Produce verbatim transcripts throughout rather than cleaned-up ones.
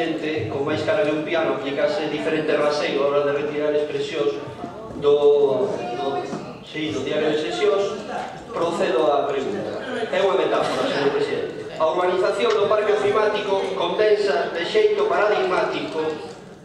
presidente, con máis cara de un piano, aplicase diferente raseio a hora de retirar expresións do, do, sí, do diario de sesións, procedo á pregunta. É unha metáfora, señor presidente. A urbanización do parque ofimático condensa de xeito paradigmático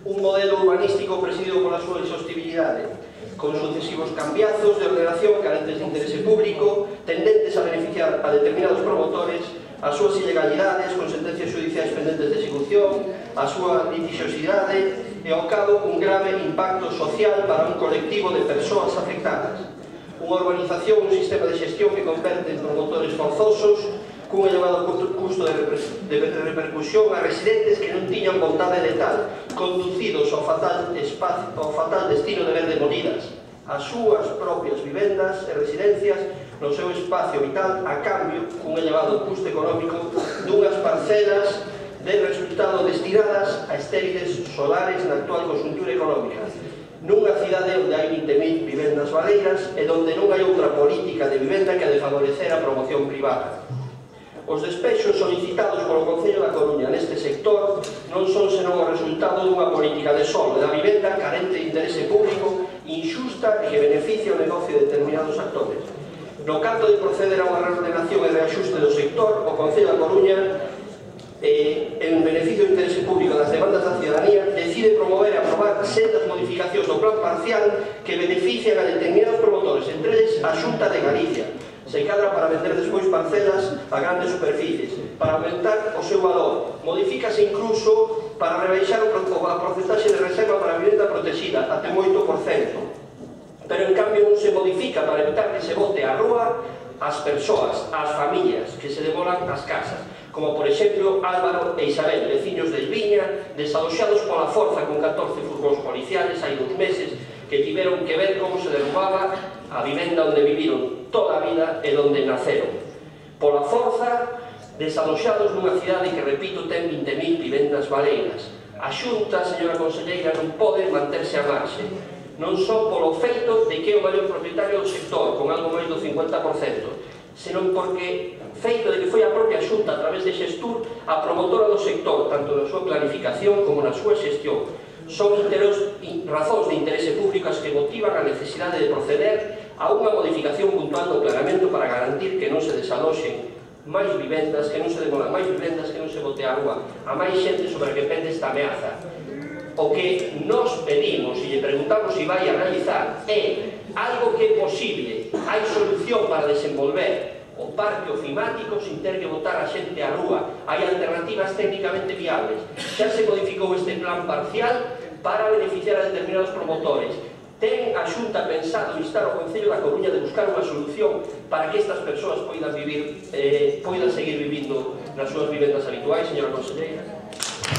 un modelo urbanístico presidido pola súa insostibilidade, con sucesivos cambiazos de ordenación carentes de interese público, tendentes a beneficiar a determinados promotores, as súas ilegalidades con sentencias judiciais pendentes de execución, a súa litigiosidade e ao cabo un grave impacto social para un colectivo de persoas afectadas. Unha urbanización, un sistema de xestión que converte en promotores forzosos cun elevado custo de, reper de repercusión a residentes que non tiñan vontade de tal, conducidos ao fatal, espacio, ao fatal destino de ver demolidas as súas propias vivendas e residencias no seu espacio vital a cambio cun elevado custo económico dunhas parcelas de resultado destinadas a estériles solares na actual conxuntura económica, nunha cidade onde hai vinte mil vivendas baleiras e onde non hai outra política de vivenda que a de favorecer a promoción privada. Os despexos solicitados polo Concello da Coruña neste sector non son senón o resultado dunha política de solo e da vivenda carente de interese público, injusta e que beneficia o negocio de determinados actores. No canto de proceder a unha reordenación e reaxuste do sector, o Concello da Coruña, eh, en beneficio do interese público das demandas da ciudadanía, decide promover e aprobar sendas modificacións do plan parcial que benefician a determinados promotores, entre eles a Xunta de Galicia, se cadra para vender despois parcelas a grandes superficies, para aumentar o seu valor. Modifícase incluso para rebaixar a porcentaxe de reserva para a vivenda protegida, até un oito por cento. Pero, en cambio, non se modifica para evitar que se bote á rúa as persoas, as familias, que se demolan as casas, como, por exemplo, Álvaro e Isabel, veciños de Elviña, desaloxados pola forza con catorce furgóns policiales hai dous meses, que tiveron que ver como se derrubaba a vivenda onde viviron toda a vida e onde naceron. Pola forza, desaloxados nunha cidade que, repito, ten vinte mil vivendas baleiras. A Xunta, señora conselleira, non pode manterse a marxe, non só polo feito de que é o maior propietario do sector, con algo máis do cincuenta por cento, senón porque feito de que foi a propia Xunta, a través de Xestur, a promotora do sector, tanto na súa planificación como na súa xestión. Son razóns de interese público as que motivan a necesidade de proceder a unha modificación puntual do planeamento para garantir que non se desaloxen máis vivendas, que non se demolan máis vivendas, que non se bote a rúa a máis xente sobre a que pende esta ameaza. O que nos pedimos e lle preguntamos se vai a realizar é algo que é posible, hai solución para desenvolver o parque ofimático sin ter que botar a xente á rúa, hai alternativas técnicamente viables. Xa se modificou este plan parcial para beneficiar a determinados promotores. Ten a Xunta pensado instar ao Concello da Coruña de buscar unha solución para que estas persoas poidan vivir, eh, poidan seguir vivindo nas súas vivendas habituais, señora conselleira?